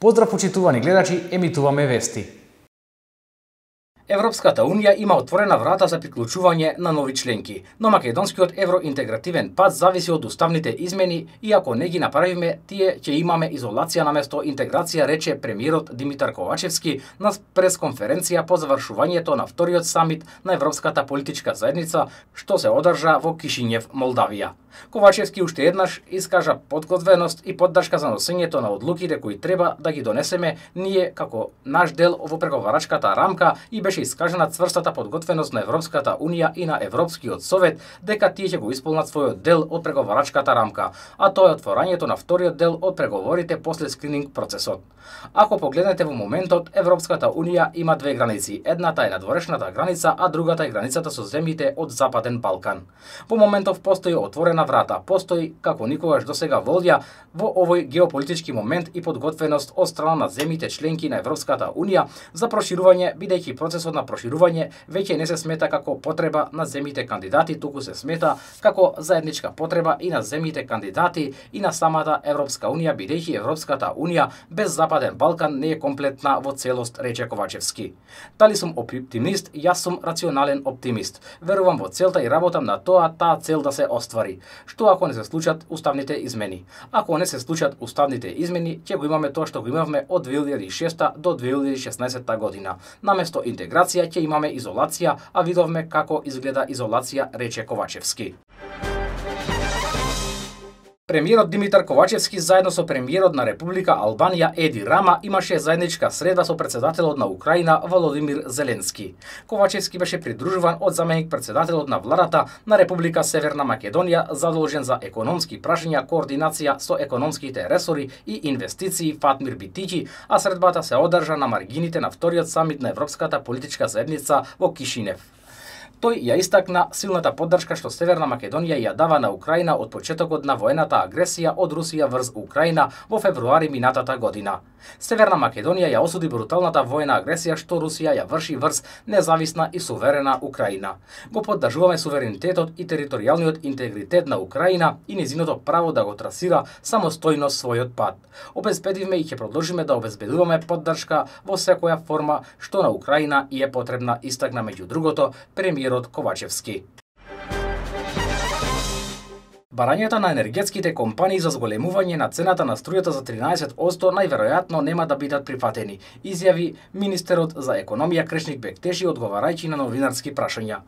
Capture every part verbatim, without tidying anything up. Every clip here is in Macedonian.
Поздрав почитувани гледачи, емитуваме вести. Европската унија има отворена врата за приклучување на нови членки, но македонскиот евроинтегративен пат зависи од уставните измени и ако не ги направиме, тие ќе имаме изолација наместо интеграција, рече премиерот Димитар Ковачевски на пресконференција по завршувањето на вториот самит на Европската политичка заедница, што се одржа во Кишињев, Молдавија. Ковачевски уште еднаш искажа подготвеност и поддршка за носењето на одлуките кои треба да ги донесеме ние како наш дел во преговарачката рамка и беше искажана цврстата подготвеност на Европската унија и на Европскиот совет дека тие ќе го исполнат својот дел од преговарачката рамка, а тоа е отворањето на вториот дел од преговорите после скрининг процесот. Ако погледнете во моментот, Европската унија има две граници. Едната е надворешната граница, а другата е границата со земјите од Западен Балкан. Во моментов постои отворена врата, постои како никогаш досега волја во овој геополитички момент и подготвеност од страна на земјите членки на Европската унија за проширување, бидејќи процесот на проширување веќе не се смета како потреба на земјите кандидати, туку се смета како заедничка потреба и на земјите кандидати и на самата Европска унија, бидејќи Европската унија без Западен Балкан не е комплетна во целост, рече Ковачевски. Дали сум оптимист? Јас сум рационален оптимист. Верувам во целта и работам на тоа таа цел да се оствари. Што ако не се случат уставните измени? Ако не се случат уставните измени, ќе го имаме тоа што го имавме од две илјади и шеста до две илјади и шеснаесетта година. Наместо интеграција ќе имаме изолација, а видовме како изгледа изолација, рече Ковачевски. Премиерот Димитар Ковачевски заедно со премиерот на Република Албанија Еди Рама имаше заедничка средба со председателот на Украина Володимир Зеленски. Ковачевски беше придружуван од заменик председателот на владата на Република Северна Македонија задолжен за економски прашања, координација со економските ресори и инвестиции Фатмир Битиќи, а средбата се одржа на маргините на вториот самит на Европската политичка заедница во Кишинев. Тој ја истакна силната поддршка што Северна Македонија ја дава на Украина од почетокот на воената агресија од Русија врз Украина во февруари минатата година. Северна Македонија ја осуди бруталната воена агресија што Русија ја врши врз независна и суверена Украина. Го поддржуваме суверенитетот и територијалниот интегритет на Украина и незиното право да го трасира самостојно својот пат. Обезбедивме и ќе продолжиме да обезбедуваме поддршка во секоја форма што на Украина и е потребна, истакна меѓу другото премиерот Ковачевски. Барањата на енергетските компании за зголемување на цената на струјата за тринаесет одсто најверојатно нема да бидат прифатени, изјави министерот за економија Крешник Бектеши одговарајќи на новинарски прашања.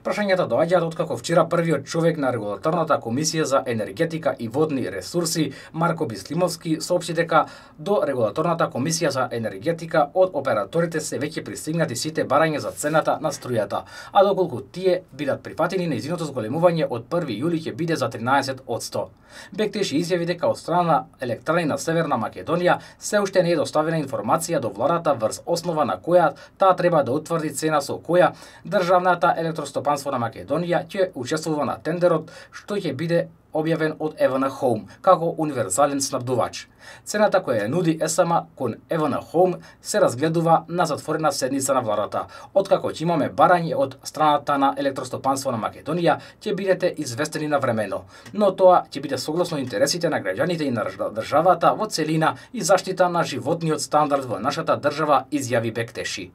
Прашањата доаѓаат откако вчера првиот човек на регулаторната комисија за енергетика и водни ресурси Марко Бислимовски соопшти дека до регулаторната комисија за енергетика од операторите се веќе пристигнати сите барања за цената на струјата, а доколку тие бидат прифатени, нејзиното зголемување од први јули ќе биде за тринаесет одсто. Бектеши изјави дека од страна на Електрани на Северна Македонија се уште не е доставена информација до владата врз основа на која таа треба да утврди цена со која државната електростопанство на Македонија ќе учествува на тендерот што ќе биде објавен од ЕВН Home како универзален снабдувач. Цената која ја нуди ЕСМ кон ЕВН Home се разгледува на затворена седница на владата. Откако ќе имаме барање од страната на електростопанство на Македонија, ќе бидете известени навремено, но тоа ќе биде согласно интересите на граѓаните и на државата во целина и заштита на животниот стандард во нашата држава, изјави Бектеши.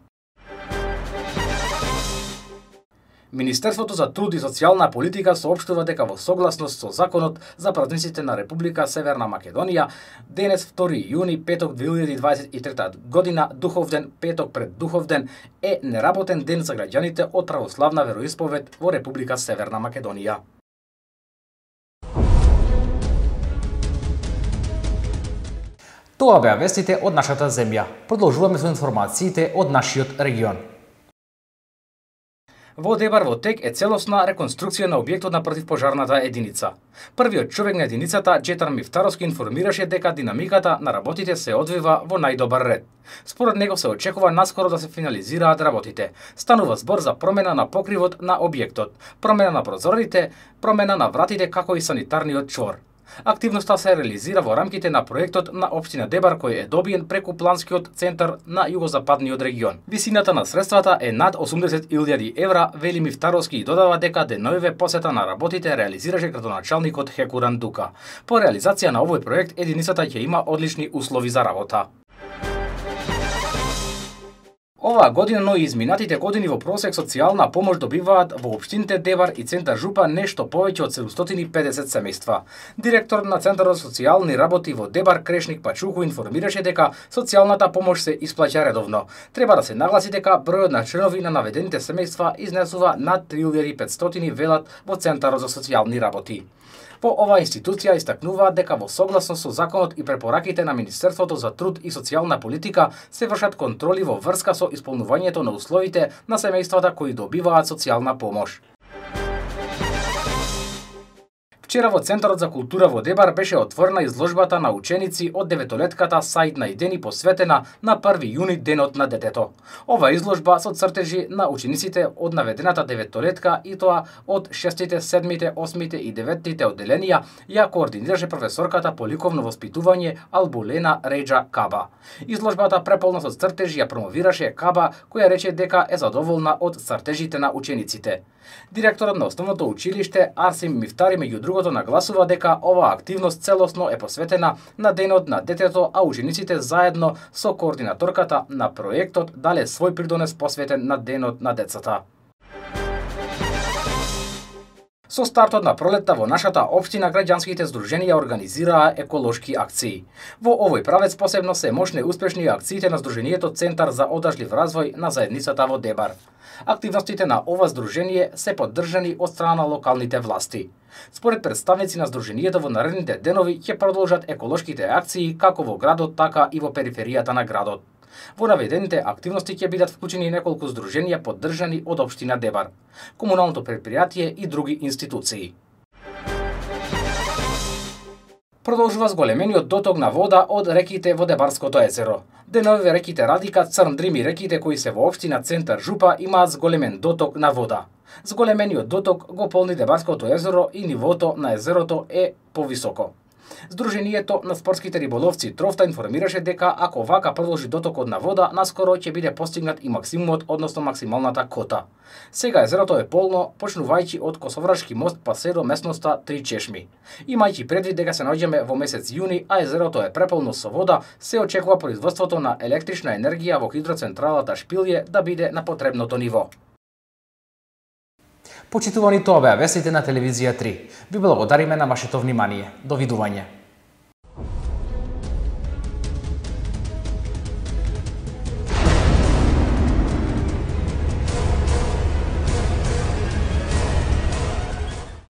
Министерството за труд и социјална политика соопштува дека во согласност со законот за празниците на Република Северна Македонија, денес втори јуни, петок две илјади дваесет и трета година, Духовден, петок пред Духовден, е неработен ден за граѓаните од православна вероисповед во Република Северна Македонија. Тоа беа вестите од нашата земја. Продолжуваме со информациите од нашиот регион. Во Дебар во тек е целосна реконструкција на објектот на противпожарната единица. Првиот човек на единицата, Джетар Мифтаровски, информираше дека динамиката на работите се одвива во најдобар ред. Според него се очекува наскоро да се финализираат работите. Станува збор за промена на покривот на објектот, промена на прозорите, промена на вратите како и санитарниот чвор. Активноста се реализира во рамките на проектот на општина Дебар кој е добиен преку планскиот центар на југозападниот регион. Висината на средствата е над осумдесет илјади евра, вели Мифтаровски и додава дека денојве посета на работите реализираше градоначалникот Хекуран Дука. По реализација на овој проект единицата ќе има одлични услови за работа. Оваа година, но и изминатите години во просек социјална помош добиваат во општините Дебар и Центар Жупа нешто повеќе од седумстотини и педесет семејства. Директор на Центарот за социјални работи во Дебар Крешник Пачуху информираше дека социјалната помош се исплаќа редовно. Треба да се нагласи дека бројот на членови на наведените семејства изнесува над три илјади и петстотини, велат во Центарот за социјални работи. Во оваа институција истакнуваат дека во согласно со законот и препораките на Министерството за труд и социјална политика се вршат контроли во врска со исполнувањето на условите на семејствата кои добиваат социјална помош. Вчера во Центарот за култура во Дебар беше отворена изложбата на ученици од деветолетката Саид Наидени посветена на први јуни, денот на детето. Ова изложба со цртежи на учениците од наведената деветолетка и тоа од шестите, седмите, осмите и деветите одделенија ја координираше професорката по ликовно воспитување Албулена Реџа Каба. Изложбата преполна со цртежи ја промовираше Каба, која рече дека е задоволна од цртежите на учениците. Директорот на основното училиште Арсим Мифтари меѓу другото нагласува дека оваа активност целосно е посветена на денот на детето, а учениците заедно со координаторката на проектот дале свој придонес посветен на денот на децата. Со стартот на пролетта во нашата општина граѓанските здруженија организираа еколошки акции. Во овој правец посебно се мощни и успешни акциите на Здруженијето Центар за одржлив развој на заедницата во Дебар. Активностите на ова здружение се поддржани од страна на локалните власти. Според представници на здруженијето, во наредните денови ќе продолжат еколошките акции како во градот, така и во периферијата на градот. Во наведените активности ќе бидат вклучени неколку здруженија поддржани од општина Дебар, комуналното предпријатие и други институции. Продолжува зголемениот доток на вода од реките во Дебарското езеро. Деновиве реките Радика, Црн Дрим и реките кои се во општина Центар Жупа имаат зголемен доток на вода. Зголемениот доток го полни Дебарското езеро и нивото на езерото е повисоко. Здруженијето на спортските риболовци Трофта информираше дека ако вака продолжи дотокот на вода, наскоро ќе биде постигнат и максимумот, односно максималната кота. Сега езерото е полно, почнувајќи од Косоврашки мост па се до местноста Три чешми. Имајќи предвид дека се наоѓаме во месец јуни, а езерото е преполно со вода, се очекува производството на електрична енергија во хидроцентралата Шпилје да биде на потребното ниво. Почитувани, тоа беа вестите на телевизија три. Ви благодариме на вашето внимание. Довидување.